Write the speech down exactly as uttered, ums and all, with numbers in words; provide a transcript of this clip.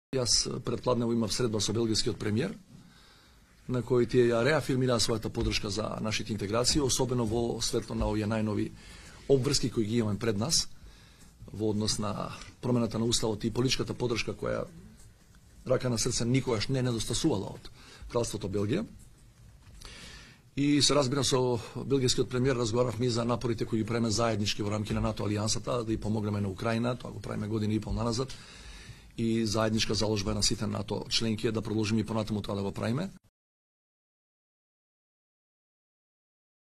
Јас предпладнево имав средба со белгискиот премиер, на кој тие ја реафирмираа својата поддршка за нашите интеграции, особено во светло на овие најнови обврски кои ги имаме пред нас, во однос на промената на уставот и политичката поддршка која рака на срце никогаш не недостасувала од Кралството Белгија. И се разбира со белгискиот премиер разговаравме и за напорите кои ги правиме заеднички во рамки на НАТО алијансата, да и помогнеме на Украина, тоа го правиме година и пол наназад, и заедничка заложба на сите НАТО членки е да продолжиме и понатаму тоа да го правиме.